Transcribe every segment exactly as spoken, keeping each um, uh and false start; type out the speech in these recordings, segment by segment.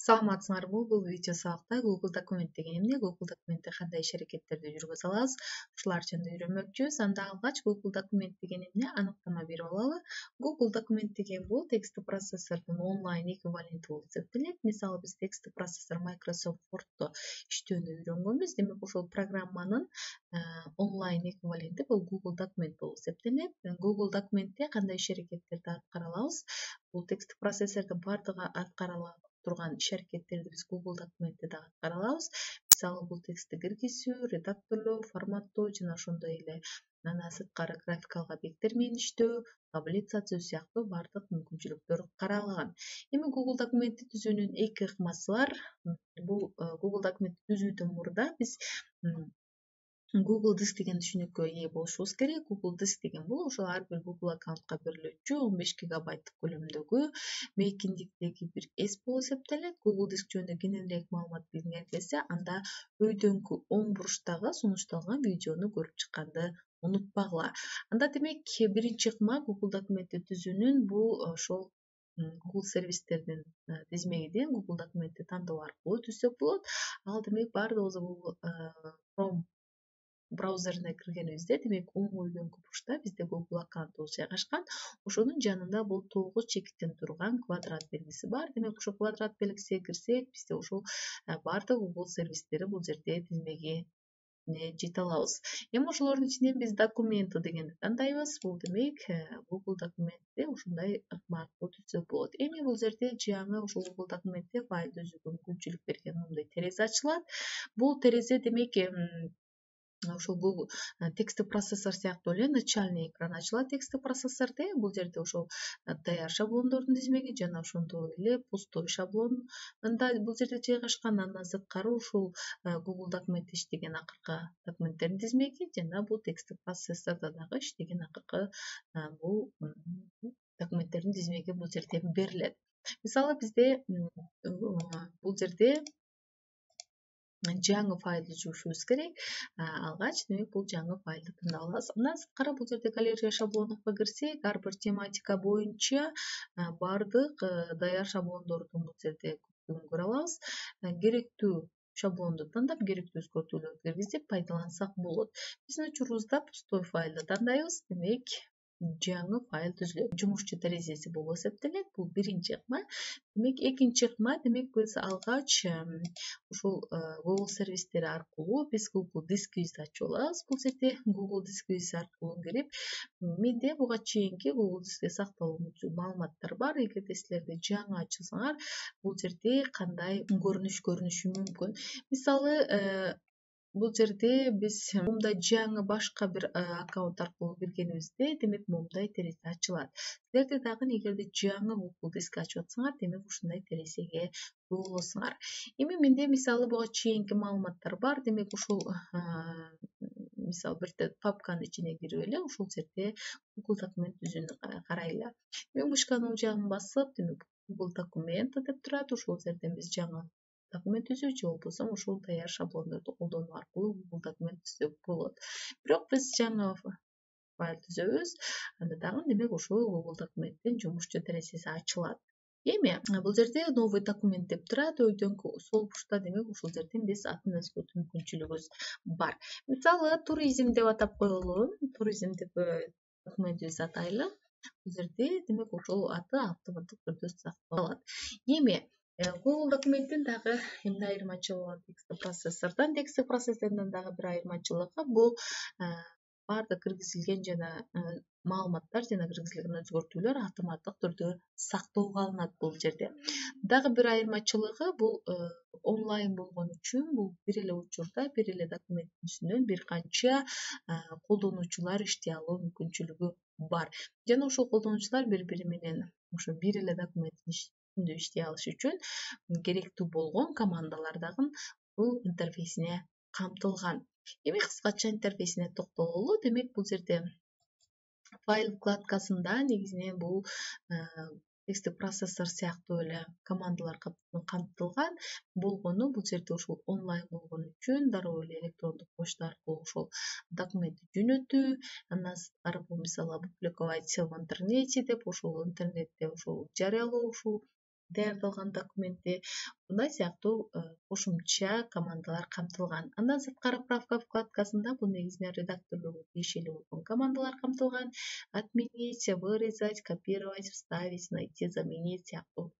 Саламатсыңарбы? Бул видео сабакта Google документ деген эмне, Google документте кандай иш-аракеттерди жүргүзө алабыз, ушулар жөнүндө үйрөнмөкчүбүз. Анда алгач Google документ деген эмне аныктама берип алалы. Google документ деген бул тексттик процессордун онлайн эквиваленти болуп эсептелет. Мисалы, биз тексттик процессор Microsoft Word'то иштөөнү үйрөнгөнбүз. Демек, ошол программанын онлайн эквиваленти бул Google документ болуп эсептелет. Google документте кандай иш-аракеттерди аткара алабыз? Бул тексттик процессордун бардыгы аткара алат турган иш-аракеттерди биз Google документте да аткара алабыз. Мисалы, бул текстти киргизүү, редакторлоо, форматтоо жана ошондой эле андан сырткары графикалык объекттер менен иштөө, таблица түзүү сыяктуу бардык мүмкүнчүлүктөр каралган. Эми Google документти түзүүнүн эки ыкмасы бар. Бул Google документти түзүүдөн мурда биз Google Диск деген түшүнүккө ээ болушубуз керек. Google Диск деген бул ошол ар бир Google аккаунтка берилүүчү он беш гигабайттык көлөмдөгү мейкиндиктеги бир эс болуп эсептелет. Google Диск жөнүндө кененирээк маалымат билгиңер келсе, анда өйдөңкү оң буруштагы сунушталган видеону көрүп чыкканды унутпагыла. Анда демек биринчи ыкма Google документти түзүүнүн бул ошол Google сервистердин тизмегинен Google документти тандоо аркылуу түзсөк болот. Ал демек баардыгыбыз Google Chrome браузерине киргенибизде, демек оң өйдөңкү буручта бизде Google аккаунтубуз жайгашкан. Ошонун жанында бул тогуз чекиттен турган квадрат белгиси бар. Демек, ошол квадрат белгисине кирсек, бизде ошол баардык Google сервистери бул жерде тизмеге жете алабыз. Эми ошолордун ичинен биз документы дегенди тандайбыз. Бул демек Google документти ушундай ыкма аркылуу түзсөк болот. Эми бул жерде жаңы ошол Google документте файл түзүүгө мүмкүнчүлүк берген мындай терезе ачылат. Бул терезе демек ошол Google тексттик процессор сыяктуу эле начальный экран ачылат тексттик процессордо. Бул жерде ошол Dayar шаблондордун тизмеги жана ошондой эле пустой шаблонунда бул жерде жайгашкан. Андан сырткары ушул Google документте иштеген акыркы документтердин тизмеги жана бул тексттик процессордо дагы иштеген акыркы бул документтердин тизмеги бул жерде берилет. Мисалы, бизде бул жерде жаңы файл түзүшүбүз керек. Алгач демек бул жаңы файлды тандап алабыз. Андан сырткары бул жерде галерея шаблонуна кирсек, ар бир тематика боюнча бардык Dayar шаблондордун бул жерде көптүгүн көрө алабыз. Керектүү шаблонду тандап, керектүү өзгөртүүлөрдү киргизип пайдалансак болот. Биздин учурубузда пустой файлды тандайбыз. Демек, жаңы файл түзүлөт. Жумушчу терезеси болуп эсептелет. Бул биринчи ыкма. Демек, экинчи ыкма демек биз алгач ушул Google сервистери аркылуу биз Google дискибизди ачып алабыз. Бул жерде Google дискибиз аркылуу кирип, менде буга чейинки Google дискте сакталуучу маалыматтар бар. Эгерде силерде жаңы ачылсаңар, бул жерде кандай көрүнүш көрүнүшү мүмкүн. Мисалы, бул жерде биз момундай жаңы башка бир аккаунт аркылуу киргенибизде, демек момундай терезе ачылат. Силерде дагы эгерде жаңы Google диск ачып атсаңар, демек ушундай терезеге ээ болосуңар. Эми менде мисалы буга чейинки маалыматтар бар. Демек, ушул мисалы бир папканын ичине кирип эле ушул жерде Google документ түзүүнү карайлы. Мен мышканын жагын басып, демек Google документ деп турат. Ушул жерден биз жаңы документ түзүү же болбосо ушул Dayar шаблондорду колдонуу аркылуу Google документ түзсөк болот. Бирок биз жаңы файл түзөбүз. Анда дагы демек ушул Google документтин жумушчу терезеси ачылат. Эми бул жерде новый документ деп турат. Өйдөңкү сол бурчта демек ушул жерден биз атын өзгөртүү мүмкүнчүлүгүбүз бар. Мисалы, туризм деп атап коелу. Туризм деп документибизди атайлы. Бул жерде демек ошол аты автоматтык түрдө сакталат. Эми Google документтин дагы эмне айырмачылыгы тексттик процессордон? Тексттик процессордон дагы бир айырмачылыгы бул баардык киргизилген жана маалыматтар жана киргизилген өзгөртүүлөр автоматтык түрдө сактоого алынат бул жерде. Дагы бир айырмачылыгы бул онлайн болгон үчүн бул бир эле учурда бир эле документтин үстүнөн бир канча колдонуучулар иштей алуу мүмкүнчүлүгү бар. Жана ошол колдонуучулар бири-бири менен ошо бир эле документтин иштей алышы үчүн керектүү болгон командалар дагы бул интерфейсине камтылган. Эми кыскача интерфейсине токтололу. Демек, бул жерде файл вкладкасында негизинен бул тексттик процессор сыяктуу эле командалар камтылган болгону бул жерде ушул онлайн болгон үчүн дароо эле электрондук почта аркылуу ошол документти жөнөтүү, андан сырткары бул мисалы опубликовать в интернете деп ошол интернетте ошол жарыялоо ушул даярдалган документти мындай сыяктуу кошумча командалар камтылган. Андан сырткары правка вкладкасында бул негизинен редакторлорго тиешелүү болгон командалар камтылган. Отменить, вырезать, копировать, вставить, найти, заменить сыяктуу.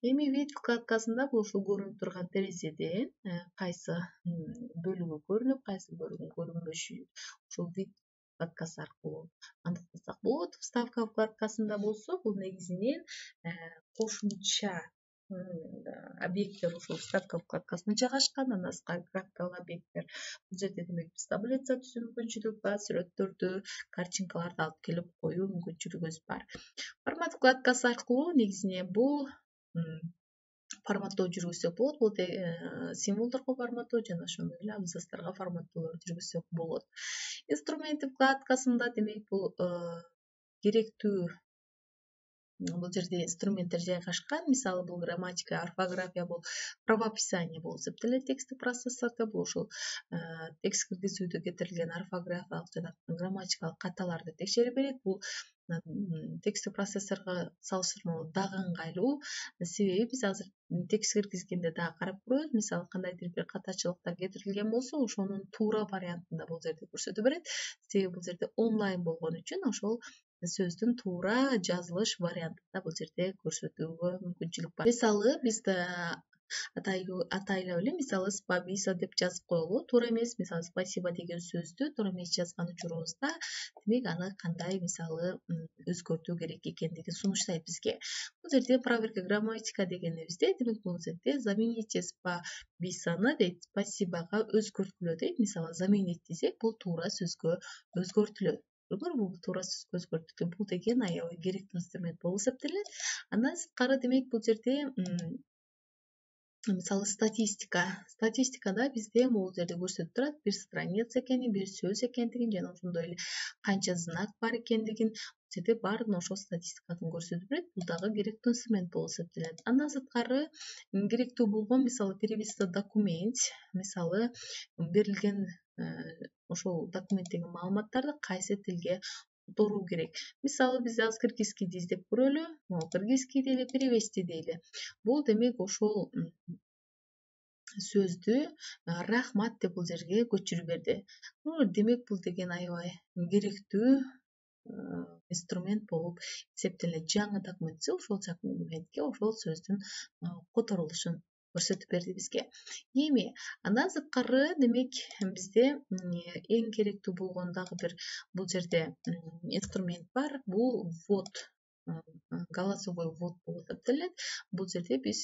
Эми вид вкладкасында бул ушул көрүнүп турган терезеден кайсы бөлүгү көрүнүп, кайсы бөлүгү көрүнбөшү ушул вид вкладкасы аркылуу аныктасак болот. Вставка вкладкасында болсо бул негизинен кошумча объекттер ушул вставка вкладкасында жайгашкан. Андан сырткары графикалык объекттер бул жерде демек биз таблица түзүү мүмкүнчүлүгү бар, сүрөттөрдү, картинкаларды алып келип коюу мүмкүнчүлүгүбүз бар. Формат вкладкасы аркылуу негизинен бул форматтоо жүргүзсөк болот. Бул символдорго форматтоо жана ошондой эле абзацтарга форматтоолорду жүргүзсөк болот. Инструменты вкладкасында демек бул керектүү бул жерде инструменттер жайгашкан. Мисалы бул грамматика, орфография, бул правописание болуп эсептелет. Тексттик процессордо бул ушул текст киргизүүдө кетирилген орфографиялык жана грамматикалык каталарды текшере берет. Бул тексттик процессорго салыштырмалуу дагы ыңгайлуу. Себеби биз азыр текст киргизгенде дагы карап көрөбүз. Мисалы кандайдыр бир катачылыктар кетирилген болсо, ошонун туура вариантында бул жерде көрсөтө берет. Себеби бул жерде онлайн болгон үчүн ошол сөздүн туура жазылыш вариантында бул жерде көрсөтүүгө мүмкүнчүлүк бар. Мисалы биз атайлап эле мисалы спабиса деп жазып коелу. Туура эмес, мисалы спасибо деген сөздү туура эмес жазган учурубузда демек аны кандай мисалы өзгөртүү керек экендигин сунуштайт бизге. Бул жерде проверка грамматика дегенибизде демек бул жерде замените спабисаны дейт, спасибага өзгөрткүлө дейт. Мисалы заменить десек бул туура сөзгө өзгөртүлөт. Бул туура сөзгө өзгөртүлөт. Бул деген аябай керектүү инструмент болуп эсептелет. Андан сырткары демек бул жерде мисалы статистика. Статистикада бизде бул жерде көрсөтүп турат бир страница экенин, бир сөз экендигин жана ошондой эле канча знак бар экендигин. Бул жерде баарын ошол статистикадан көрсөтүп берет. Бул дагы керектүү инструмент болуп эсептелет. Андан сырткары керектүү болгон мисалы перевести документ, мисалы берилген ошол документтеги маалыматтарды кайсы тилге которуу керек. Мисалы биз азыр кыргызский издеп көрөлү. Могу кыргызский дейли, перевести дейли. Бул демек ошол сөздү рахмат деп бул жерге көчүрүп берди. Демек бул деген аябай керектүү инструмент болуп эсептелет. Жаңы документсе ошол документке ошол сөздүн которулушун көрсөтүп берди бизге. Эми андан сырткары демек бизде эң керектүү болгон дагы бир бул жерде инструмент бар. Бул ввод, голосовой ввод болуп эсептелет. Бул жерде биз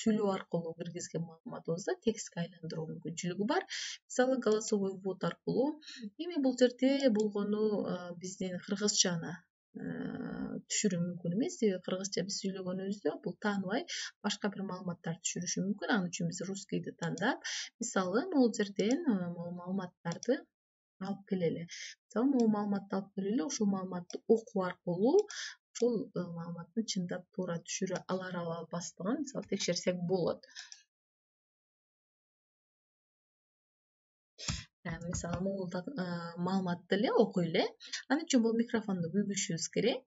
сүйлөө аркылуу киргизген маалыматыбызды текстке айландыруу мүмкүнчүлүгү бар. Мисалы голосовой ввод аркылуу. Эми бул жерде болгону биздин кыргызчаны түшүрүү мүмкүн эмес. Себеби кыргызча биз сүйлөгөнүбүздө бул тааныбай башка бир маалыматтарды түшүрүшү мүмкүн. Ал үчүн биз русскийди тандап, мисалы могул жерден могул маалыматтарды алып келели. Мисалы могул маалыматты алып келели, ошол маалыматты окуу аркылуу ошол маалыматтын чындап туура түшүрө алар албастыгын мисалы текшерсек болот. Мисалы могул маалыматты эле окуй эле. Ал үчүн бул микрофонду бүгүшүбүз керек.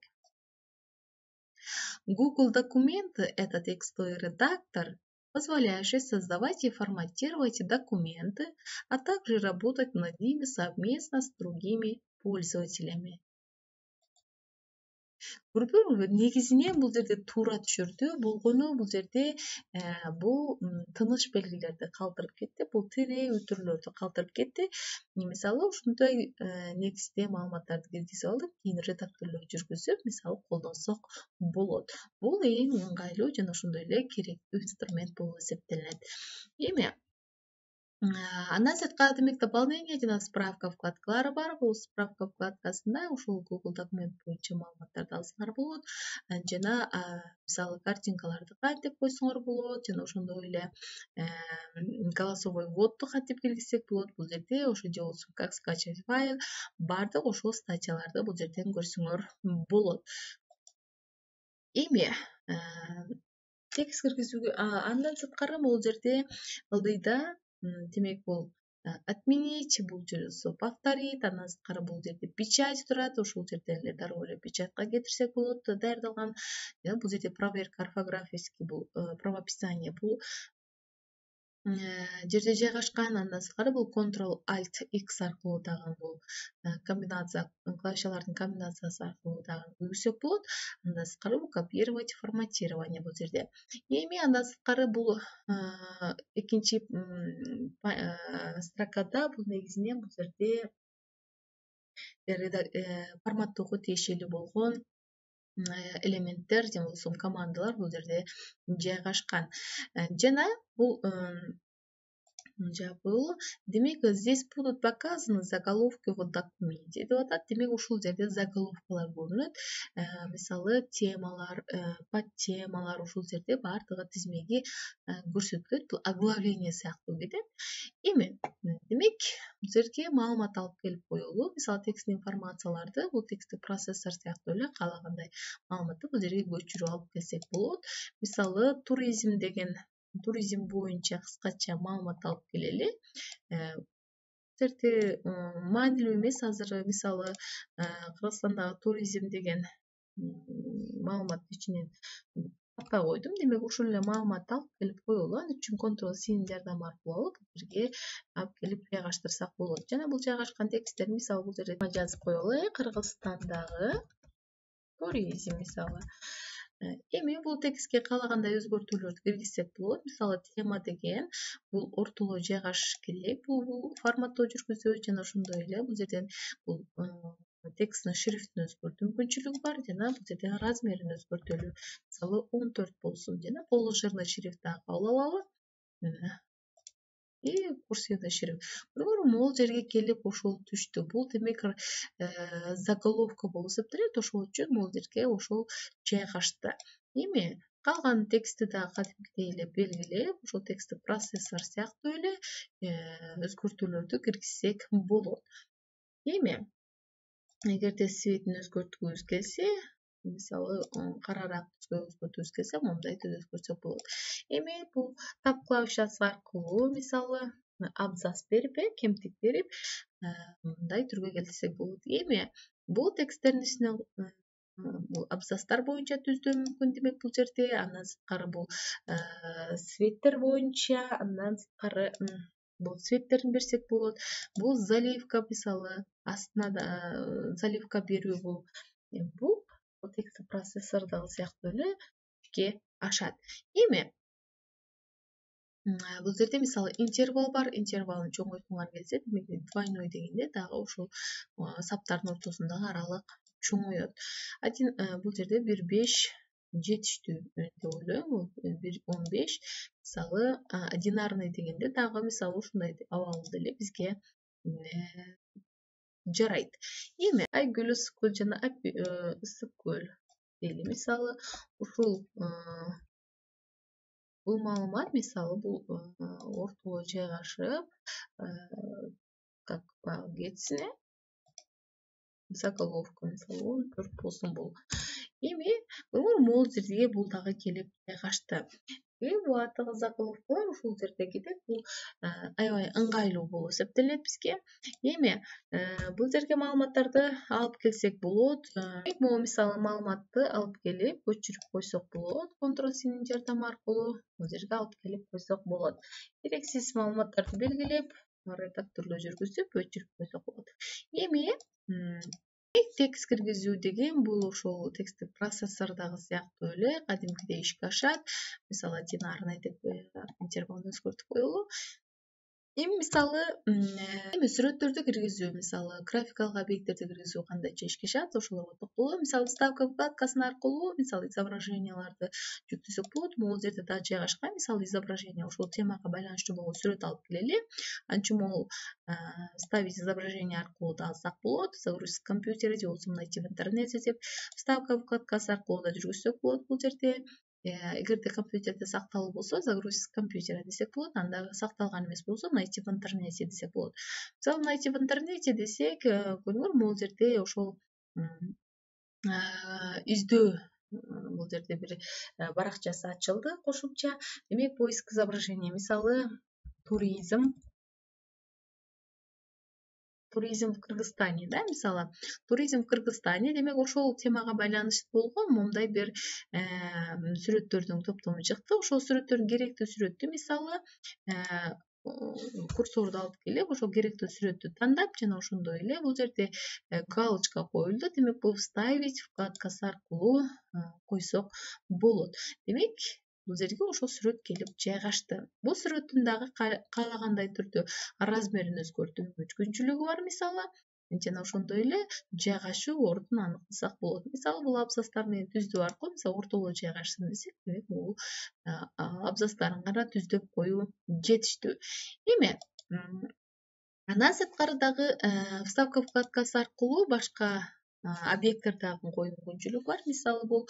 Google документы — это текстовый редактор, позволяющий создавать и форматировать документы, а также работать над ними совместно с другими пользователями. Көрдүңүзбү? Негизинен бул жерде туура түшүрдү. Болгону бул жерде бул тыныч белгилерди калтырып кетти. Бул тире үтүрлөрдү калтырып кетти. Мисалы ушундай негизде маалыматтарды киргизип алдым. Кийин редакторлоо жүргүзүп, мисалы колдонсок болот. Бул эң ыңгайлуу жана ошондой эле керектүү инструмент болуп эсептелет. Эми андан сырткары демек дополнение жана справка вкладкалары бар. Бул справка вкладкасында ушул Google документ боюнча маалыматтарды алсаңар болот. Жана мисалы картинкаларды кантип койсоңор болот, жана ошондой эле голосовой вводду кантип киргизсек болот. Бул жерде ошо же болбосо как скачать файл, баардык ошол статьяларды бул жерден көрсөңөр болот. Эми текст киргизүүгө андан сырткары бул жерде ылдыйда демек бул отменить, бул жерде повторить, андан сырткары бул жерде печать турат, ошол жерде эле дароо эле печатка кетирсек болот даярдалган. Жана бул жерде проверка орфографический, бул правописание бул жерде жайгашкан. Андан сырткары бул Ctrl Alt X аркылуу дагы бул комбинация, клавишалардын комбинациясы аркылуу дагы бүгүсөк болот. Андан сырткары бул копировать, форматирование бул жерде. Эми андан сырткары бул экинчи строкада бул негизинен бул жерде форматтоого тиешелүү болгон элементтер же болбосо командалар бул жерде жайгашкан. Жана бул жабыл. Демек, здесь будут показаны заголовки в документе деп атат. Демек, ушул жерде заголовкалар көрүнөт. Мисалы, темалар, подтемалар ушул жерде бардыгы тизмеги көрсөтүлөт. Бул оглавление сыяктуу кетет. Эми, демек, бул жерге маалымат алып келип коелу. Мисалы, текст информацияларды, бул тексттик процессор сыяктуу эле каалагандай маалыматты бул жерге көчүрүп алып келсек болот. Мисалы, туризм деген туризм боюнча кыскача маалымат алып келели. Бул жерде маанилүү эмес азыр, мисалы, Кыргызстандагы туризм деген маалыматтын ичинен таппай койдум. Демек, ушул эле маалыматты алып келип коелу. Ал үчүн Ctrl Cнин жардамы аркылуу алып бирге алып келип жайгаштырсак болот. Жана бул жайгашкан тексттер, мисалы, бул жерде жазып коелу. Кыргызстандагы туризм мисалы. Эми бул текстке каалагандай өзгөртүүлөрдү киргизсек болот. Мисалы, тема деген бул ортолоо жайгашыш керек. Бул форматтоо жүргүзөт жана ошондой эле бул жерден бул тексттин шрифтин өзгөртүү мүмкүнчүлүгү бар жана бул жерде размерин өзгөртөлү. Мисалы, он төрт болсун жана положенный шрифт дагы кабыл алалы. И курсивный шрифт. Көрдүңүзбү, могул жерге келип ошол түштү. Бул демек заголовка болуп эсептелет. Ошол үчүн могул жерге ошол жайгашты. Эми калган текстти дагы кадимкидей эле белгилеп, ошол тексттик процессор сыяктуу эле өзгөртүүлөрдү киргизсек болот. Эми эгерде цветин өзгөрткүбүз келсе, мисалы, карараак түскө өзгөрткүбүз келсе, мындай өзгөртсөк болот. Эми бул тап клавишасы аркылуу, мисалы, абзац берип, кемтик берип, мындай түргө келтирсек болот. Эми бул тексттердин ичинен бул абзацтар боюнча түздөү мүмкүн. Демек, бул жерде андан сырткары бул цветтер боюнча, андан сырткары бул цветтерин берсек болот. Бул заливка, мисалы, астына да заливка берүү бул. Бул текст процессор дагы сыяктуу эле ишке ашат. Эми бул жерде мисалы интервал бар. Интервалын чоңойткуңар келсе, демек, двойной дегенде дагы ушул саптардын ортосундагы аралык чоңоет. Один бул жерде бир беш жетиштүү деп ойлойм. бир он беш. Мисалы, одинарный дегенде дагы мисалы ушундай абалда эле бизге жарайт. Эми Айгүл ысык көл жана ысык көл дейли. Мисалы, ушул бул маалымат, мисалы, бул ортолоо жайгашып, как кетсин, заголовка, мисалы, он төрт болсун бул. Эми могул жерге бул дагы келип жайгашты. Эми бардыгы заголовкалар ушул жерде кетет. Бул аябай ыңгайлуу болуп эсептелет бизге. Эми бул жерге маалыматтарды алып келсек болот. Могу мисалы маалыматты алып келип көчүрүп койсок болот. Ctrl Cнин жардамы аркылуу бул жерге алып келип койсок болот. Керексиз маалыматтарды белгилеп, редактордо жүргүзүп, өчүрүп койсок болот. Эми текст киргизүү деген бул ошол тексттик процессордогу сыяктуу эле кадимкидей ишке ашат. Мисалы, одинарный деп интервалды өзгөртүп коелу. Эми мисалы, эми сүрөттөрдү киргизүү, мисалы, графикалык объекттерди киргизүү кандайча ишке ашат, ошолорго токтолуу. Мисалы, вставка вкладкасы аркылуу, мисалы, изображенияларды жүктөсөк болот. Могул жерде да жайгашкан. Мисалы, изображение ушул темага байланыштуу болгон сүрөт алып келели. Анчы могул ставить изображение аркылуу да алсак болот. Загрузить с компьютера же болбосо найти в интернете деп вставка вкладкасы аркылуу да жүргүзсөк болот бул жерде. Эгерде компьютерде сакталуу болсо, загрузить с компьютера десек болот. Анда сакталган эмес болсо, найти в интернете десек болот. Мисалы, найти в интернете десек, көрдүңөр, могул жерде ошол издөө, бул жерде бир баракчасы ачылды кошумча. Демек, поиск изображения, мисалы, туризм туризм в Кыргызстане, да, мисалы туризм в Кыргызстане, демек ошол темага байланыштуу болгон момундай бир сүрөттөрдүн топтому чыкты. Ошол сүрөттөрдүн керектүү сүрөттү мисалы курсорду алып келип, ошол керектүү сүрөттү тандап жана ошондой эле бул жерде галочка коюлду. Демек бул вставить вкладкасы аркылуу койсок болот. Демек бул жерге ошол сүрөт келип жайгашты. Бул сүрөттүн дагы каалагандай түрдө размерин өзгөртүү мүмкүнчүлүгү бар мисалы, жана ошондой эле жайгашуу ордун аныктасак болот. Мисалы бул абзацтардын түздүгү аркылуу мисалы ортолоо жайгашсын десек, демек бул абзацтарын гана түздөп коюу жетиштүү. Эми андан сырткары дагы вставка вкладкасы аркылуу башка объекттерди коюу мүмкүнчүлүгү бар. Мисалы бул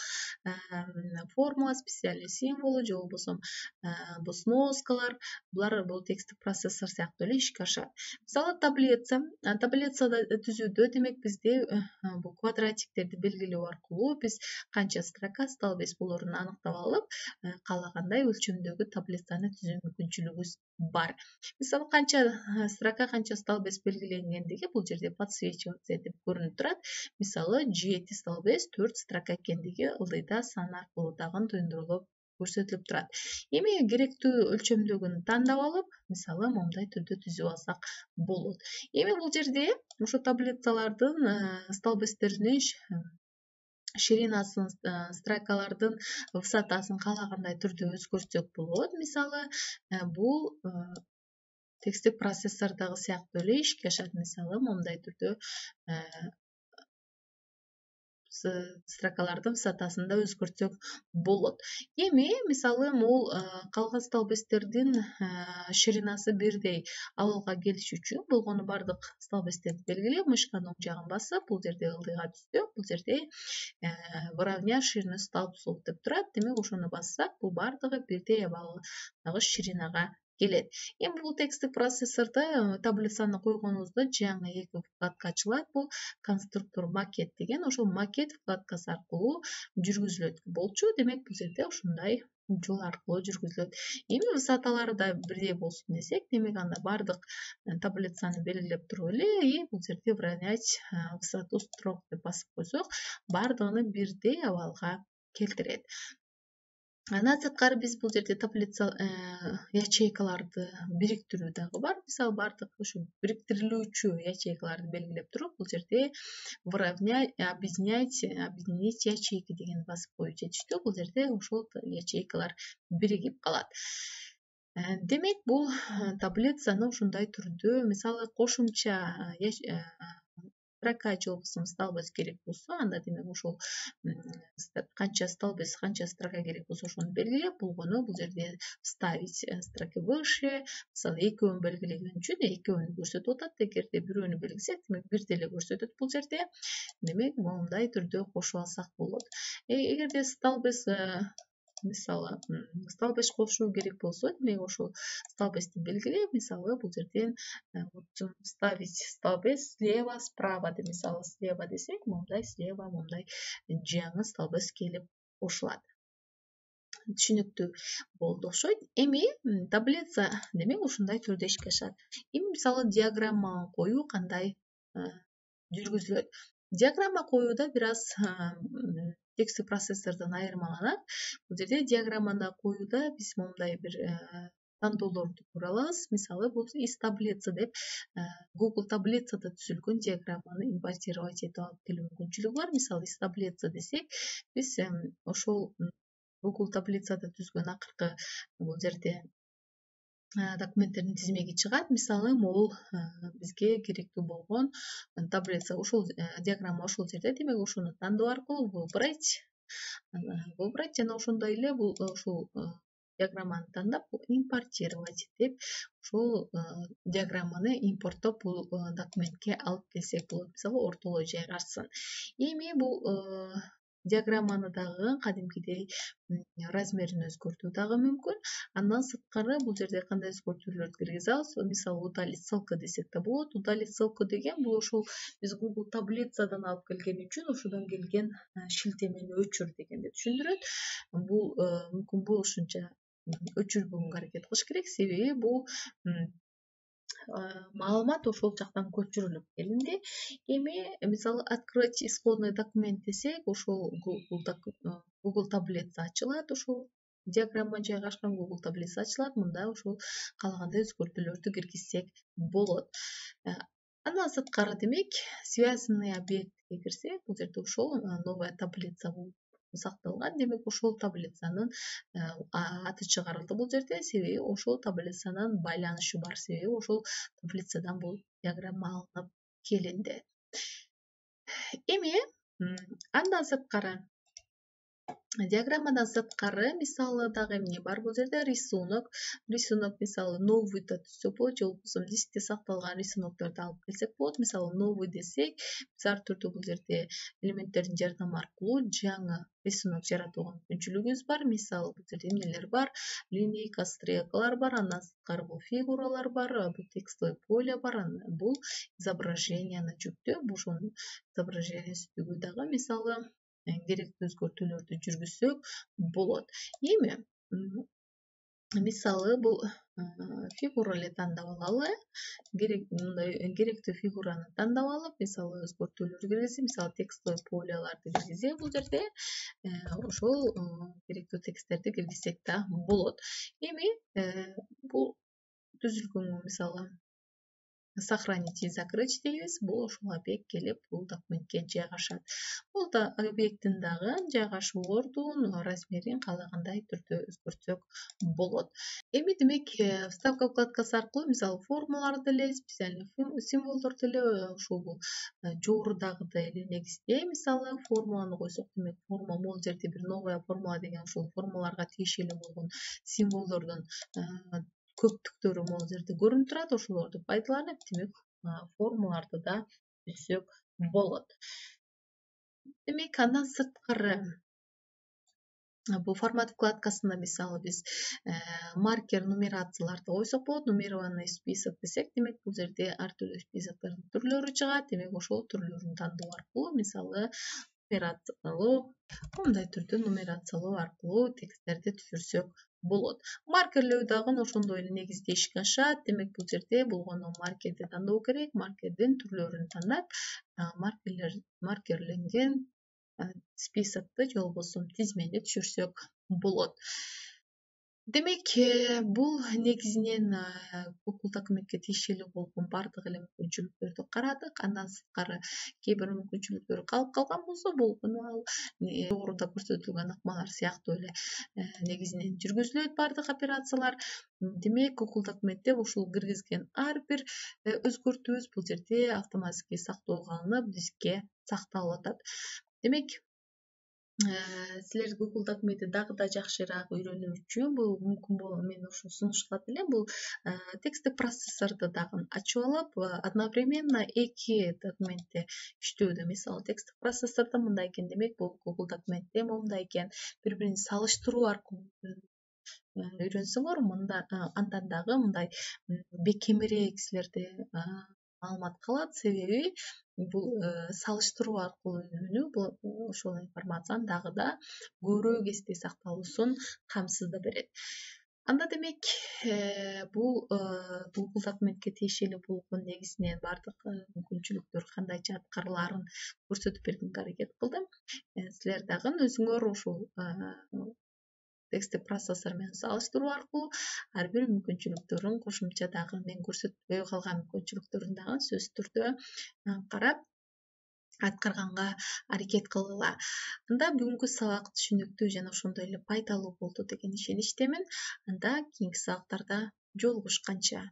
формула, специальный символу же болбосо бул сноскалар, булар бул тексттик процессор сыяктуу эле ишке ашат. Мисалы таблица, таблицада түзүүдө демек бизде бул квадратиктерди белгилөө аркылуу биз канча строка, столбец болорун аныктап алып, каалагандай өлчөмдөгү таблицаны түзүү мүмкүнчүлүгүбүз бар. Мисалы канча строка, канча столбец белгиленгендиги бул жерде подсвечиваться деп көрүнүп турат. Мисалы жети столбец, төрт строка экендиги ылдыйда сан аркылуу дагы туюндурулуп көрсөтүлүп турат. Эми керектүү өлчөмдөгүн тандап алып, мисалы момундай түрдө түзүп алсак болот. Эми бул жерде ошо таблицалардын столбецтеринин ширинасын, строкалардын высотасын каалагандай түрдө өзгөртсөк болот. Мисалы бул тексттик процессордогу сыяктуу эле ишке ашат. Мисалы момундай түрдө строкалардын высотасын да өзгөртсөк болот. Эми мисалы могул калган столбецтердин ширинасы бирдей абалга келиш үчүн болгону бардык столбецтерди белгилеп, мышканын оң жагын басып, бул жерде ылдыйга түзсөк, бул жерде выравнять ширину столбцов деп турат. Демек ошону бассак, бул бардыгы бирдей абалдагы ширинага келет. Эми бул тексттик процессордо таблицаны койгонубузда жаңы эки вкладка ачылат. Бул конструктор макет деген, ошол макет вкладкасы аркылуу жүргүзүлөт болчу. Демек бул жерде ушундай жол аркылуу жүргүзүлөт. Эми высоталары да бирдей болсун десек, демек анда бардык таблицаны белгилеп туруп эле, и бул жерде выравнять высоту строк деп басып койсок, бардыгын бирдей абалга келтирет. Андан сырткары биз бул жерде таблица ячейкаларды бириктирүү дагы бар. Мисалы бардык ушу бириктирилүүчү ячейкаларды белгилеп туруп, бул жерде выравнять, объединять, объединить ячейки деген басып коюу жетиштүү. Бул жерде ошол ячейкалар биригип калат. Демек бул таблицаны ушундай түрдө, мисалы кошумча строка же болбосо столбец керек болсо, анда демек ошол канча столбец, канча строка керек болсо ошону белгилеп, болгону бул жерде вставить строки выше, мисалы экөөнү белгилеген үчүн экөөнү көрсөтүп атат. Эгерде бирөөнү белгилесек, демек бир деле көрсөтөт бул жерде. Демек момундай түрдө кошуп алсак болот. Эгерде столбец мисалы столбец кошуу керек болсо, демек ошол столбецти белгилеп, мисалы бул жерден вставить столбец слева, справа деп, мисалы слева десек, момундай слева, момундай жаңы столбец келип кошулат. Түшүнүктүү болду окшойт. Эми таблица демек ушундай түрдө ишке ашат. Эми мисалы диаграмма коюу кандай жүргүзүлөт? Диаграмма коюуда бир аз тексттик процессордон айырмаланат. Бул жерде диаграмманы коюуда биз момундай бир тандоолорду көрө алабыз. Мисалы бул из таблицы деп Google таблицада түзүлгөн диаграмманы импортировать этип алып келүү мүмкүнчүлүгү бар. Мисалы из таблицы десек, биз ошол Google таблицада түзгөн акыркы бул жерде документтердин тизмеги чыгат. Мисалы могул бизге керектүү болгон таблица, ушул диаграмма ошол жерде. Демек ошону тандоо аркылуу выбрать, выбрать жана ошондой эле бул ушул диаграмманы тандап импортировать деп ушул диаграмманы импорттоп бул документке алып келсек болот. Мисалы ортолой жайгашсын. Эми бул диаграмманы дагы кадимкидей размерин өзгөртүү дагы мүмкүн. Андан сырткары бул жерде кандай өзгөртүүлөрдү киргизе алабыз? Мисалы удалить ссылку десек да болот. Удалить ссылку деген бул ушул биз Google таблицадан алып келген үчүн ошодон келген шилтемени өчүр дегенди түшүндүрөт. Бул мүмкүн болушунча өчүрбөгөнгө аракет кылыш керек, себеби бул маалымат ошол жактан көчүрүлүп келинди. Эми мисалы открыть исходный документ десек, ошол Google таблица ачылат, ошол диаграмма жайгашкан Google таблица ачылат. Мында ошол каалагандай өзгөртүүлөрдү киргизсек болот. Андан сырткары демек связанный объектке кирсек, бул жерде ошол новая таблица болуп сакталган. Демек ошол таблицанын аты чыгарылды бул жерде, себеби ошол таблицанын байланышы бар, себеби ошол таблицадан бул диаграмма алынып келинди. Эми андан сырткары диаграммадан сырткары мисалы дагы эмне бар бул жерде? Рисунок. Рисунок мисалы новыйда түзсөк болот, же болбосо дискте сакталган рисунокторду алып келсек болот. Мисалы новый десек, биз ар түрдүү бул жерде элементтердин жардамы аркылуу жаңы рисунок жаратууга мүмкүнчүлүгүбүз бар. Мисалы бул жерде эмнелер бар? Линейка, стрелкалар бар, андан сырткары бул фигуралар бар, бул текстовый поле бар, бул изображенияны жүктөө, ошол изображениянын дагы мисалы керектүү өзгөртүүлөрдү жүргүзсөк болот. Эми мисалы бул фигура эле тандап алалы. Керек мындай керектүү фигураны тандап алып, мисалы өзгөртүүлөрдү киргизип, мисалы текстовый полеларды киргизсек, бул жерде ошол керектүү тексттерди киргизсек да болот. Эми бул түзүлгөнгө мисалы сохранить и закрыть дейбиз. Бул ошол объект келип бул документке жайгашат. Бул да объекттин дагы жайгашуу ордун, размерин каалагандай түрдө өзгөртсөк болот. Эми демек вставка вкладкасы аркылуу мисалы формаларды эле, специальный символдорду эле ушул бул жогорудагыдай эле негизде мисалы формуланы койсок, демек форма бул жерде бир новая формула деген ушул формаларга тиешелүү болгон символдордун көптүктөрү могул жерде көрүнүп турат. Ошолорду пайдаланып, демек формуларды да түзсөк болот. Демек андан сырткары бул формат вкладкасында мисалы биз маркер нумерацияларды койсок болот. Нумерованный список десек, демек бул жерде ар түрдүү списоктордун түрлөрү чыгат. Демек ошол түрлөрүн тандоо аркылуу мисалы нумерациялоо, мындай түрдө нумерациялоо аркылуу тексттерди түзүрсөк болот. Маркерлөө дагы ошондой эле негизде ишке ашат. Демек бул жерде болгону маркерди тандоо керек. Маркердин түрлөрүн тандап, маркерлер маркерленген списокты же болбосо тизмени түшүрсөк болот. Демек бул негизинен Google документке тиешелүү болгон бардык эле мүмкүнчүлүктөрдү карадык. Андан сырткары кээ бир мүмкүнчүлүктөр калып калган болсо, болгону ал жогоруда көрсөтүлгөн ыкмалар сыяктуу эле негизинен жүргүзүлөт бардык операциялар. Демек Google документте ушул киргизген ар бир өзгөртүүбүз бул жерде автоматически сактоого алынып, дискке сакталып атат. Демек силер Google документти дагы да жакшыраак үйрөнүү үчүн бул мүмкүн болот, мен ошо сунушталат элем. Бул тексттик процессорду дагы ачып алып, одновременно эки документте иштөөдө. Мисалы тексттик процессордо мындай экен, демек бул Google документте момундай экен. Бири-бирин салыштыруу аркылуу үйрөнсөңөр, мында андан дагы мындай бекемирээк силерде маалымат калат. Себеби бул салыштыруу аркылуу үйрөнүү бул ошол информациянын дагы да көбүрөөк эсте сакталуусун камсыздап берет. Анда демек бул Google документке тиешелүү болгон негизинен бардык мүмкүнчүлүктөр кандайча аткарылаарын көрсөтүп бергенге аракет кылдым. Силер дагы өзүңөр ушул тексттик процессор менен салыштыруу аркылуу ар бир мүмкүнчүлүктөрүн кошумча дагы мен көрсөтпөй калган мүмкүнчүлүктөрүн дагы сөзсүз түрдө карап аткарганга аракет кылгыла. Анда бүгүнкү сабак түшүнүктүү жана ошондой эле пайдалуу болду деген ишеничтемин. Анда кийинки сабактарда жолугушканча